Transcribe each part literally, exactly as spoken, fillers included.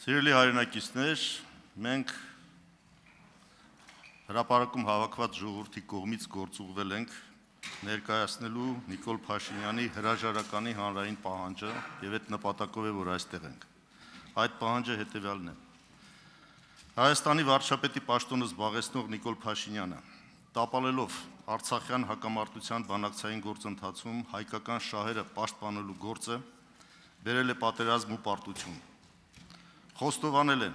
Սիրելի հայրենակիցներ, մենք հրապարակում հավաքված ժողովրդի կողմից գործուղվել ենք ներկայացնելու Նիկոլ Փաշինյանի հրաժարականի հանրային պահանջը եւ այդ նպատակով է, որ այստեղ ենք։ Այդ պահանջը հետեւյալն է. Հայաստանի վարչապետի պաշտոնը զբաղեցնող Նիկոլ Փաշինյանը, տապալելով Արցախյան հակամարտության բանակցային գործընթացում հայկական շահերը պաշտպանելու գործը, բերել է պատերազմ ու պարտություն։ Խոստովանել է,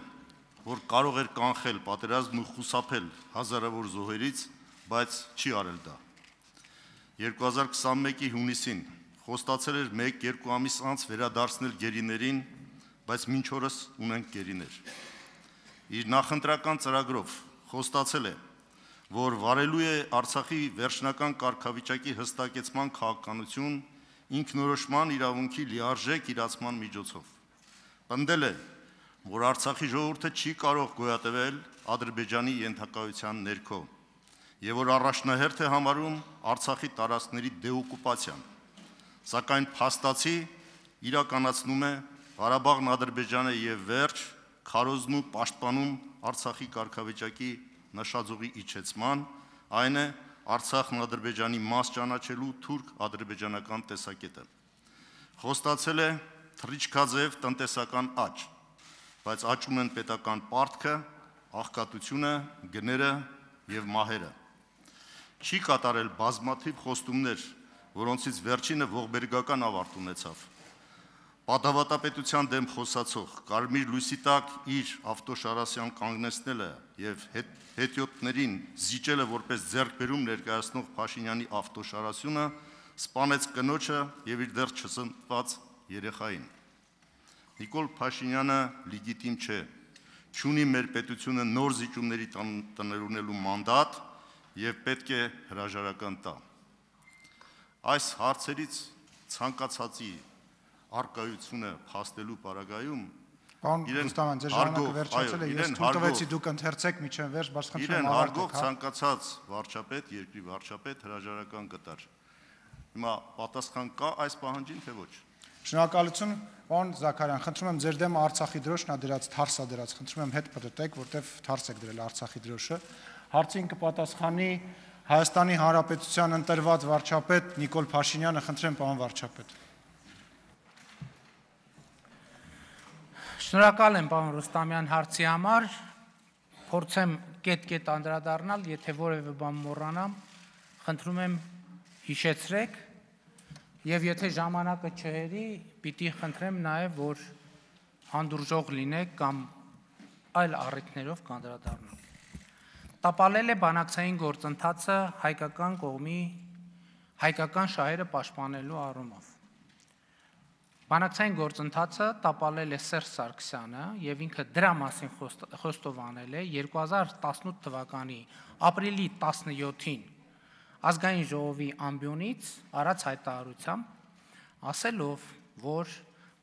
որ կարող էր կանխել պատերազմն ու խուսափել հազարավոր զոհերից, բայց չի արել դա։ երկու հազար քսանմեկի հունիսին խոստացել էր մեկ-երկու ամիս անց վերադարձնել գերիներին, բայց մինչ օրս ունենք գերիներ։ Իր նախընտրական ծրագրով խոստացել է, որ վարելու է Արցախի վերջնական կարգավիճակի հստակեցման քաղաքականություն ինքնորոշման իրավունքի լիարժեք իրացման միջոցով։ Պնդել է, որ Արցախի ժողովուրդը չի կարող գոյատևել Ադրբեջանի ենթակայության ներքո եւ որ առաջնահերթ է համարում Արցախի տարածքների դեօկուպացիան, սակայն փաստացի իրականացնում է Ղարաբաղն Ադրբեջանը եւ վերջ քարոզն ու պաշտպանում Արցախի կարգավիճակի նշաձողի իջեցման, այն է Արցախն Ադրբեջանի մաս ճանաչելու թուրք-ադրբեջանական տեսակետը։ Խոստացել է թռիչքաձև տնտեսական աճ, բայց աճում են պետական պարտքը, աղքատությունը, գները եւ մահերը։ Չի կատարել բազմաթիվ խոստումներ, որոնցից վերջինը ողբերգական ավարտ ունեցավ։ Պատավատապետության դեմ խոսացող Կարմիր լույսի տակ իր ավտոշարասյան կանգնեցնելը եւ հետիոտներին զիջելը որպես ձեռքբերում ներկայացնող Փաշինյանի ավտոշարասյունը սպանեց կնոջը եւ իր դեռ չծնված երեխային։ Նիկոլ Փաշինյանը լեգիտիմ չէ, չունի մեր պետությունը նոր զիջումների տնօրինելու մանդատ եւ պետք է հրաժարական տա։ Այս հարցերից ցանկացածի արկայությունը փաստելու պարագայում Պարոն Ռուստաման, ձեր ժամանակը վերջացել է, ես թույլ տվեցի դուք ընթերցեք միջև վերջ, բայց խնդրում եմ ավարտեք, հա։ Ցանկացած վարչապետ, երկրի վարչապետ հրաժարական կտար։ Հիմա պատասխան կա այս պահանջին, թե ոչ։ Շնորհակալություն, պարոն Զաքարյան, խնդրում եմ ձեր դեմ Արցախի դրոշն ա դրած, թարս ա դրած, խնդրում եմ հետ պատտեք, որտեվ թարս եք դրել Արցախի դրոշը։ Հարցին կպատասխանի Հայաստանի Հանրապետության ընտրված վարչապետ Նիկոլ Փաշինյանը, խնդրեմ պարոն վարչապետ։ Շնորհակալ եմ պարոն Ռուստամյան հարցի համար, փորձեմ կետ-կետ անդրադառնալ, եթե որևէ բան մոռանամ, խնդրում եմ հիշեցրեք եւ եթե ժամանակը չհերի, պիտի խնդրեմ նաեւ, որ հանդուրժող լինեք կամ այլ առիթներով կանդրադառնալ։ Տապալել է բանակցային գործընթացը հայկական կողմի հայկական շահերը պաշտպանելու առումով։ Բանակցային գործընթացը տապալել է Սերժ Սարգսյանը եւ ինքը դրա մասին խոստովանել է երկու հազար տասնութ թվականի ապրիլի տասնյոթին ազգային ժողովի ամբիոնից արած հայտարարությամբ, ասելով, որ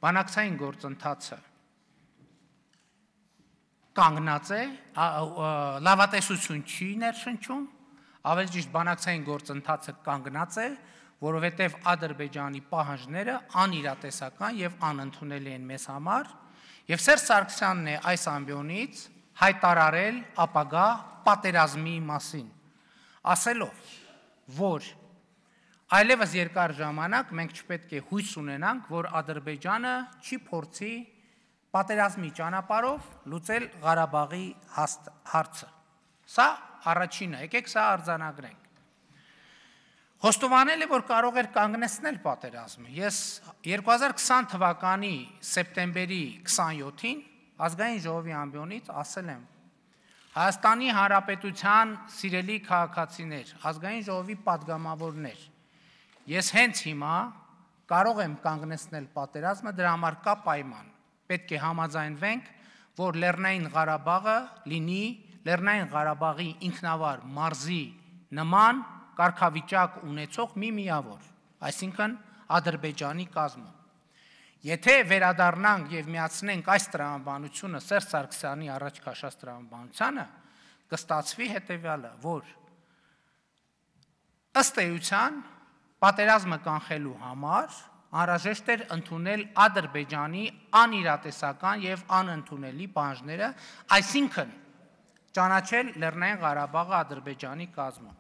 բանակցային գործընթացը կանգնած է, լավատեսություն չի ներշնչում, ավելի ճիշտ բանակցային գործընթացը կանգնած է, որովհետև Ադրբեջանի պահանջները անիրատեսական եւ անընդունելի են մեզ համար, եւ Սերժ Սարգսյանն է այս ամբիոնից հայտարարել ապագա պատերազմի մասին, ասելով, որ այլևս երկար ժամանակ մենք չպետք է հույս ունենանք, որ Ադրբեջանը չի փորձի պատերազմի ճանապարհով լուծել Ղարաբաղի հարցը։ Սա առաջինը, եկեք սա արձանագրենք։ Խոստովանել է, որ կարող էր կանգնեցնել պատերազմը։ Ես երկու հազար քսան թվականի սեպտեմբերի քսանյոթին ազգային ժողովի ամբիոնից ասել եմ. Հայաստանի Հանրապետության սիրելի քաղաքացիներ, ազգային ժողովի падգամավորներ, ես հենց հիմա կարող եմ կանգնեցնել պատերազմը, դրա համար կա պայման։ Պետք է համաձայնվենք, որ Լեռնային Ղարաբաղը լինի Լեռնային Ղարաբաղի ինքնավար մարզի նման կարգավիճակ ունեցող մի միավոր, այսինքն Ադրբեջանի կազմում։ Եթե վերադառնանք եւ միացնենք այս տրամաբանությունը Սերժ Սարգսյանի առաջ քաշած տրամաբանությանը, կստացվի հետեւյալը, որ ըստ էության պատերազմը կանխելու համար անհրաժեշտ էր ընդունել Ադրբեջանի անիրատեսական եւ անընդունելի պահանջները, այսինքն ճանաչել Լեռնային Ղարաբաղը Ադրբեջանի կազմում։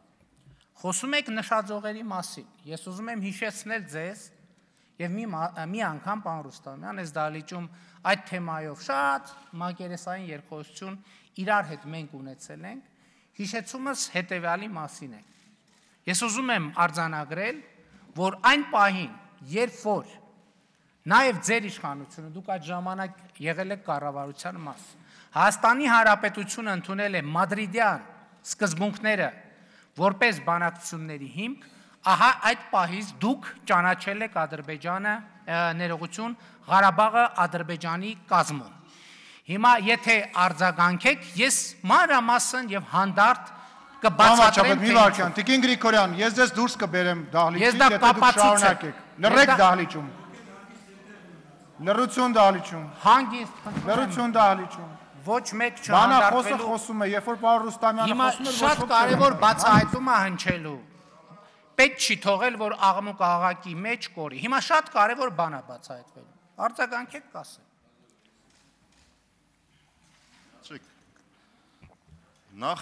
Խոսում եք նշաձողերի մասին։ Ես ուզում եմ հիշեցնել ձեզ եւ մի մի անգամ, պարոն Ռուստամյան, այս դահլիճում այդ թեմայով շատ մակերեսային երկխոսություն իրար հետ մենք ունեցել ենք, հիշեցումս հետեւյալի մասին է։ Ես ուզում եմ արձանագրել, որ այն պահին, երբ որ նաեւ ձեր իշխանությունը, դուք այդ ժամանակ եղել եք կառավարության մաս, Հայաստանի Հանրապետությունը ընդունել է մադրիդյան սկզբունքները որպես բանակցությունների հիմք, ահա այդ պահից դուք ճանաչել եք Ադրբեջանը, ներողություն, Ղարաբաղը Ադրբեջանի կազմում։ Հիմա եթե արձագանքեք, ես մանրամասն եւ հանդարտ կբացատրեմ։ Մի վարքյան, Տիկին Գրիգորյան, ես ձեզ դուրս կբերեմ դահլիճից, եթե դուք շարունակեք։ Լռեք դահլիճում։ Լռություն դահլիճում։ Հանգիստ, լռություն դահլիճում։ Ոչ մեկ չհանդարտվելու։ Բանախոսը չհանդարտվելու։ խոսում է, երբ որ պարոն Ռուստամյանը Հիմա խոսում է, շատ կարևոր բացահայտում է հնչելու։ Պետք չի թողել, որ աղմուկ աղաղակի մեջ կորի։ Հիմա շատ կարևոր բան է բացահայտվելու։ Արձագանքեք կասեմ։ Նախ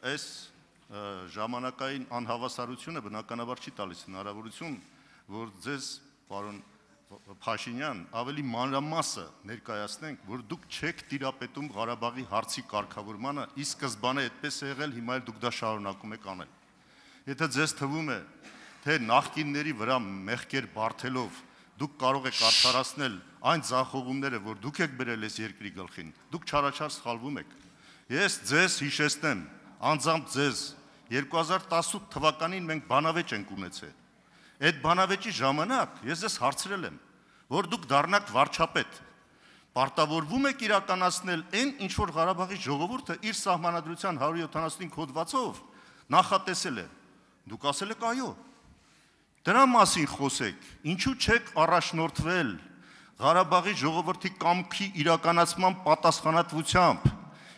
այս ժամանակային անհավասարությունը բնականաբար չի տալիս հնարավորություն, որ ձեզ, պարոն Փաշինյան, ավելի մանրամասը ներկայացնենք, որ դուք չեք տիրապետում Ղարաբաղի հարցի կարգավորմանը, ի սկզբանե այդպես է եղել, հիմա էլ դուք դա շարունակում եք անել։ Եթե ձեզ թվում է, թե նախկինների վրա մեղքեր բարթելով դուք կարող եք արդարացնել այն ձախողումները, որ դուք եք բերել այս երկրի գլխին, դուք չարաչար սխալվում եք։ Ես ձեզ հիշեցնեմ, անձամբ ձեզ, երկու հազար տասութ թվականին մենք բանավեճ ենք ունեցել։ Այդ բանավեճի ժամանակ ես ձեզ հարցրել եմ, որ դուք դառնաք վարչապետ, պարտավորվում եք իրականացնել այն, ինչ որ Ղարաբաղի ժողովուրդը իր սահմանադրության հարյուր յոթանասունհինգ հոդվածով նախատեսել է։ Դուք ասել եք այո։ Դրա մասին խոսեք, ինչու չեք առաջնորդվել Ղարաբաղի ժողովրդի կամքի իրականացման պատասխանատվությամբ։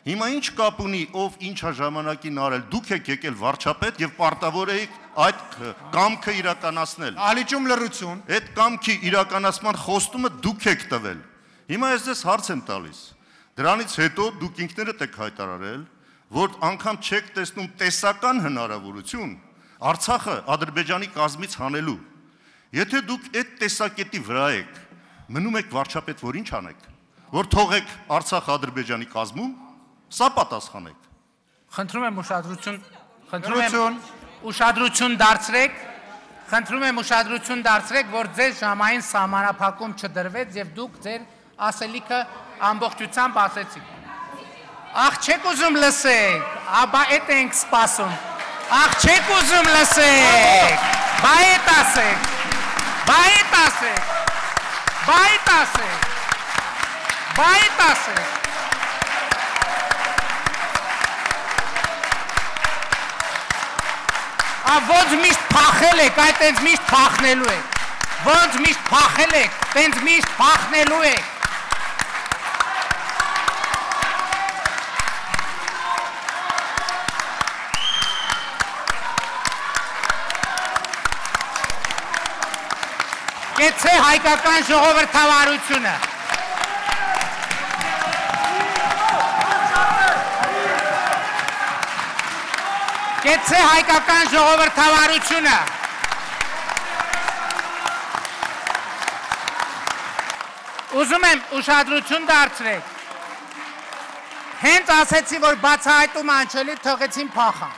Հիմա ինչ կապ ունի, ով ինչ է ժամանակին արել, դուք եք եկել վարչապետ եւ պարտավոր եք այդ կամքը իրականացնել։ Ալիճում լռություն։ Այդ կամքի իրականացման խոստումը դուք եք տվել։ Հիմա ես ձեզ հարց եմ տալիս։ Դրանից հետո դուք ինքներդ եք հայտարարել, որ անգամ չեք տեսնում տեսական հնարավորություն Արցախը Ադրբեջանի կազմից հանելու։ Եթե դուք այդ տեսակետի վրա եք, մնում եք վարչապետ, որ ինչ անեք, որ թողեք Արցախը Ադրբեջանի կազմում, սա պատասխանեք։ Խնդրում եմ ուշադրություն, խնդրում եմ ուշադրություն դարձրեք, խնդրում եմ ուշադրություն դարձրեք, որ ձեր ժամային սահմանափակում չդրվեց եւ դուք ձեր ասելիքը ամբողջությամբ ասեցիք։ Ախ, չեք ուզում լսեք, աբա էդ ենք սպասում։ Ախ, չեք ուզում լսեք, բա էդ ասեք, բա էդ ասեք, բա էդ ասեք, բա էդ ասեք։ Ա ոնց միշտ փախել եք, այդ տենց միշտ փախնելու եք, ոնց միշտ փախել եք, տենց միշտ փախնելու եք։ Կեցե հայկական ժողովրդավարությունը։ Կեցե հայկական ժողովրդավարությունը։ Ուզում եմ ուշադրություն դարձրեք։ Հենց ասեցի, որ բացահայտում անջելի թողեցին փախան։